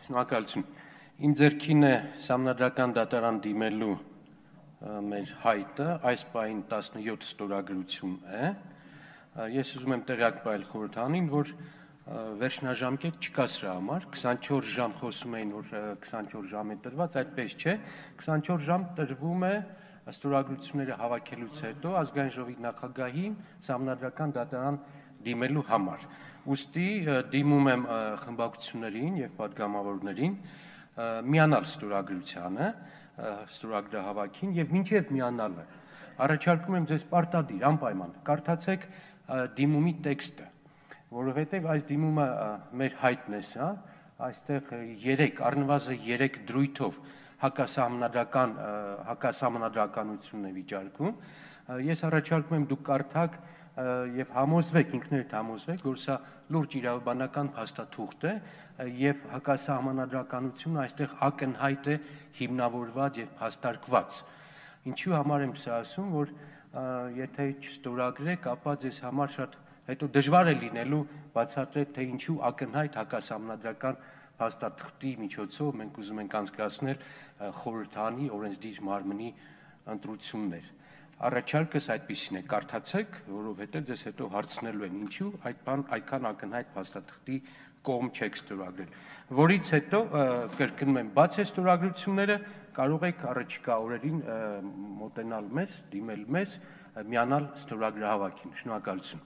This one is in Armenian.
Շնորհակալություն։ Իմ ձեռքին է Սահմանադրական դատարան դիմելու մեր հայտը, այս պահին 17 ստորագրություն է։ Ես ուզում եմ տեղյակ տալ խորհրդանին, որ վերջնաժամկետ չկա սրա համար, 24 ժամ խոսում էին, որ 24 ժամ է տրված, այդպես չէ, 24 ժամ տրվում է ստորագրությունները հավաքելուց հետո ազգային ժողովի նախագահին Սահմանադրական դատարան դիմելու համար։ Ուստի դիմում եմ խմբակցություններին եւ պատգամավորներին միանալ ստորագրությանը, ստորագրահավաքին եւ մինչեւ միանալը առաջարկում եմ ձեզ պարտադիր անպայման կարդացեք դիմումի տեքստը, որովհետեւ այս դիմումը մեր հայտն է սա, այստեղ 3 առնվազն 3 դրույթով հակասահմանադրականություն է վիճարկում։ Ես առաջարկում եմ դուք կարդաք եւ համոզվեք, ինքներդ համոզվեք, որ սա լուրջ իրավաբանական փաստաթուղթ է եւ հակասահմանադրականությունը այստեղ ակնհայտ է հիմնավորված եւ փաստարկված։ Ինչու համար եմ սա ասում, որ եթե չստորագրեք, ապա ձեզ համար շատ հետո դժվար է լինելու բացատրել, թե ինչու ակնհայտ հակասահմանադրական փաստաթղթի միջոցով մենք ուզում ենք անցկացնել խորհրդանի օրենսդիր մարմնի ընտրություններ։ Առաջարկս այդպիսին է, կարդացեք, որովհետև ձեզ հետո հարցնելու են ինչու այդքան ակնհայտ փաստաթղթի կողմ չեք ստորագրել։ Որից հետո կրկնում եմ, բաց է ստորագրությունները, կարող եք առաջիկա օրերին մոտենալ մեզ, դիմել մեզ, միանալ ստորագրահավաքին։ Շնորհակալություն։